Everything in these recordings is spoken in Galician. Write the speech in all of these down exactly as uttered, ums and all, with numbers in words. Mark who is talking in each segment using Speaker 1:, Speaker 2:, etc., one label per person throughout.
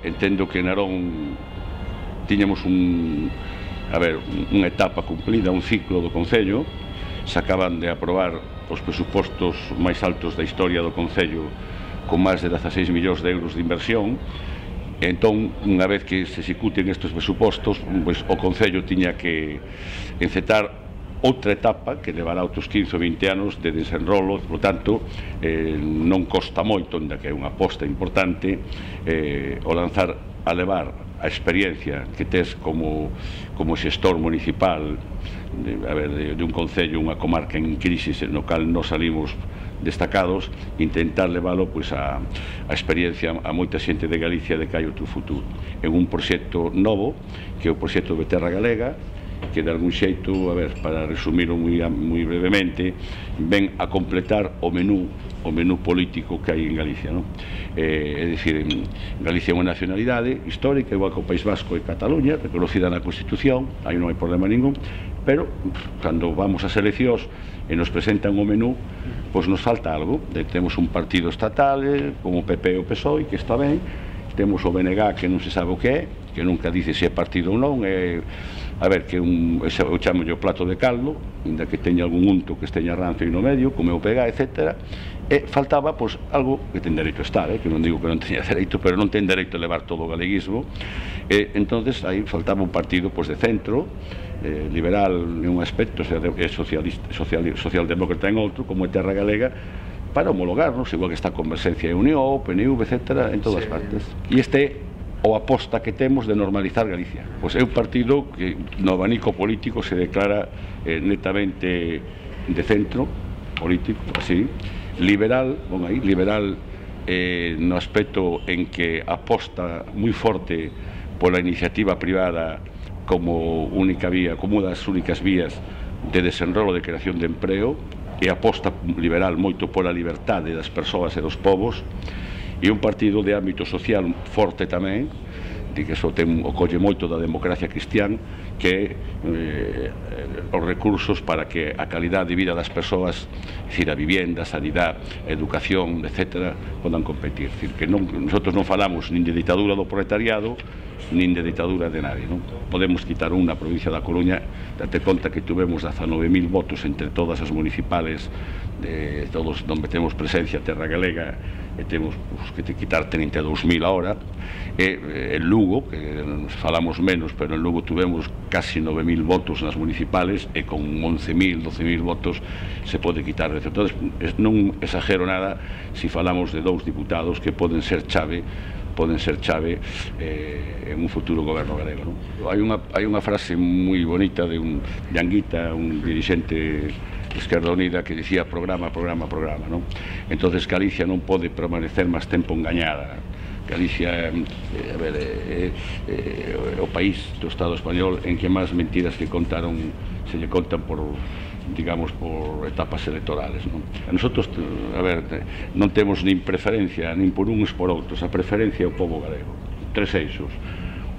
Speaker 1: Entendo que en Narón tiñamos un, a ver, unha etapa cumplida, un ciclo do Concello. Se acaban de aprobar os presupostos máis altos da historia do Concello, con máis de dezaseis millóns de euros de inversión. Entón, unha vez que se executen estes presupostos, pois, o Concello tiña que encetar outra etapa que levará outros quince ou vinte anos de desenrolo. Por tanto, eh, non costa moito, ainda que é unha aposta importante, eh, o lanzar a levar a experiencia que tes como, como xestor municipal de, a ver, de, de un concello, unha comarca en crisis no cal nos salimos destacados, intentar leválo pois, a, a experiencia a moita xente de Galicia de que hai outro futuro en un proxecto novo que é o proxecto de Terra Galega, que de algún xeito, a ver, para resumir moi, moi brevemente, ven a completar o menú o menú político que hai en Galicia, non? Eh, é dicir, Galicia é unha nacionalidade histórica, igual que o País Vasco e Cataluña, reconocida na Constitución, aí non hai problema ningún, pero cando vamos ás eleccións e nos presentan o menú, pois nos falta algo. Temos un partido estatal como o P P e o P S O E, que está ben, temos o B N G que non se sabe o que é, que nunca dice se é partido ou non, é, a ver, que un, eu chamo o plato de caldo, ainda que teña algún unto que esteña rancio no medio, como é o P G, etcétera, e faltaba, pois, algo que ten dereito a estar, eh, que non digo que non teña dereito, pero non ten dereito a levar todo o galeguismo, e entonces aí faltaba un partido, pois, de centro, eh, liberal en un aspecto, e socialista, social, socialdemócrata en outro, como é Terra Galega, para homologarnos, igual que está Converxencia e Unión, o P N V, etcétera, en todas sí. partes. E este é o aposta que temos de normalizar Galicia. Pois é un partido que no abanico político se declara eh, netamente de centro político, así, liberal, bon, aí, liberal eh, no aspecto en que aposta moi forte pola iniciativa privada como única vía, como unha das únicas vías de desenrolo de creación de empreo, e aposta liberal moito pola liberdade das persoas e dos povos, e un partido de ámbito social forte tamén, de que iso ten, o colle moito da democracia cristián, que eh, os recursos para que a calidade de vida das persoas, é dicir, a vivienda, a sanidade, a educación, etcétera, podan competir. É dicir, que non, nosotros non falamos nin de ditadura do proletariado, nin de ditadura de nadie, non? Podemos quitar unha provincia da Coruña, date conta que tuvemos dezanove mil votos entre todas as municipales, de todos onde temos presencia Terra Galega, e temos pues, que te quitar trinta e dous mil ahora, e en Lugo, que falamos menos, pero en Lugo tuvemos casi nove mil votos nas municipales, e con once mil, doce mil votos se pode quitar. Entón, non exagero nada se falamos de dous diputados que poden ser chave poden ser chave eh, en un futuro goberno galego, non? Hai unha, hai unha frase moi bonita de un de Anguita, un dirixente de Esquerda Unida, que dicía programa, programa, programa, non? Entonces Galicia non pode permanecer máis tempo engañada. Galicia eh, a ver, eh, eh, o país do Estado español en que máis mentiras que contaron se lle contan por, digamos, por etapas electorales, non? A nosotros, a ver, non temos nin preferencia nin por uns por outros, a preferencia é o povo galego. Tres eixos: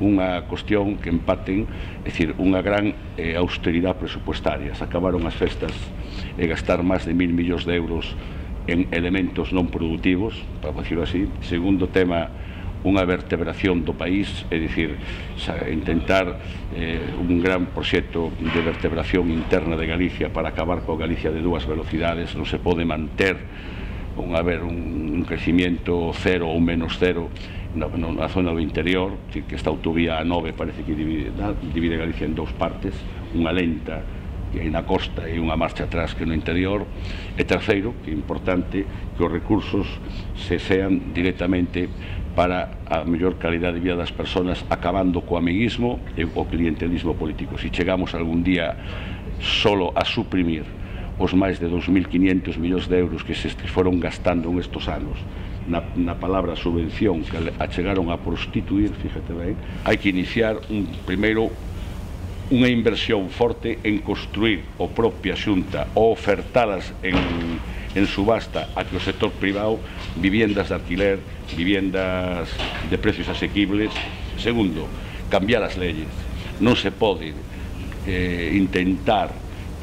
Speaker 1: unha cuestión que empaten, é dicir, unha gran eh, austeridade presupuestaria. Se acabaron as festas e gastar máis de mil millóns de euros en elementos non productivos, para decirlo así. Segundo tema, unha vertebración do país, é dicir, intentar eh, un gran proxecto de vertebración interna de Galicia para acabar coa Galicia de dúas velocidades. Non se pode manter un, a ver, un, un crecimiento cero ou menos cero na, na zona do interior, que esta autovía A nove parece que divide, divide Galicia en dous partes, unha lenta que hai na costa e unha marcha atrás que no interior. E terceiro, que é importante, que os recursos se sean directamente para a mellor calidade de vida das persoas, acabando co amiguismo e o clientelismo político. Se chegamos algún día solo a suprimir os máis de dous mil quinhentos millóns de euros que se foron gastando en estos anos na, na palabra subvención, que a chegaron a prostituir, fíjate ben, hai que iniciar un, primeiro unha inversión forte en construir o propia Xunta ou ofertadas en, en subasta a que o sector privado viviendas de alquiler, viviendas de precios asequibles. Segundo, cambiar as leyes. Non se pode eh, intentar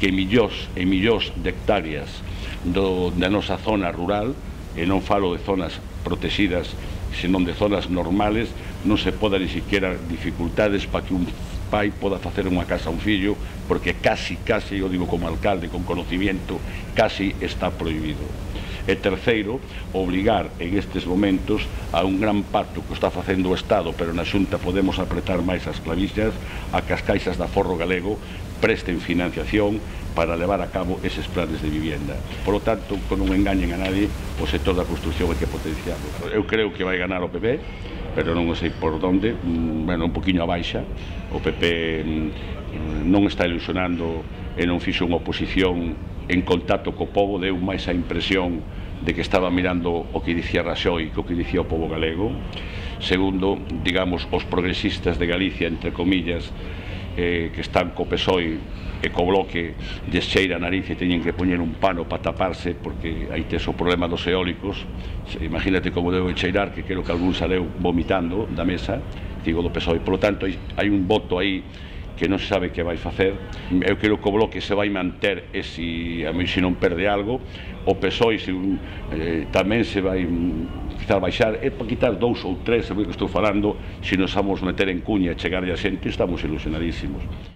Speaker 1: que millóns e millóns de hectáreas do, da nosa zona rural, e non falo de zonas protegidas, senón de zonas normales, non se poda ni siquiera dificultades para que un pai poda facer unha casa a un fillo, porque casi, casi, eu digo como alcalde, con conocimiento, casi está prohibido. E terceiro, obligar en estes momentos a un gran pacto que está facendo o Estado, pero na Xunta podemos apretar máis as clavillas, a que as caixas de aforro galego presten financiación para levar a cabo eses planes de vivienda. Por lo tanto, que non engañen a nadie, o sector da construcción hai que potenciarlo. Eu creo que vai ganar o P P, pero non sei por onde, bueno, un poquinho a baixa. O P P non está ilusionando e non fixo unha oposición en contacto co povo, deu máis a impresión de que estaba mirando o que dicía Raxoi que o que dicía o povo galego. Segundo, digamos, os progresistas de Galicia, entre comillas, eh, que están co P S O E e co Bloque, lles cheira a nariz e teñen que poñer un pano para taparse, porque aí tes o problema dos eólicos. Imagínate como debe cheirar, que creo que algún saleu vomitando da mesa, digo, do P S O E. Por lo tanto, hai un voto aí que non se sabe que vai facer. Eu creo que o Bloque se vai manter e se, a mí, se non perde algo, o P S O E se, eh, tamén se vai quizás baixar, é para quitar dous ou tres, é o que estou falando. Se nos vamos meter en cuña e chegar a xente, estamos ilusionadísimos.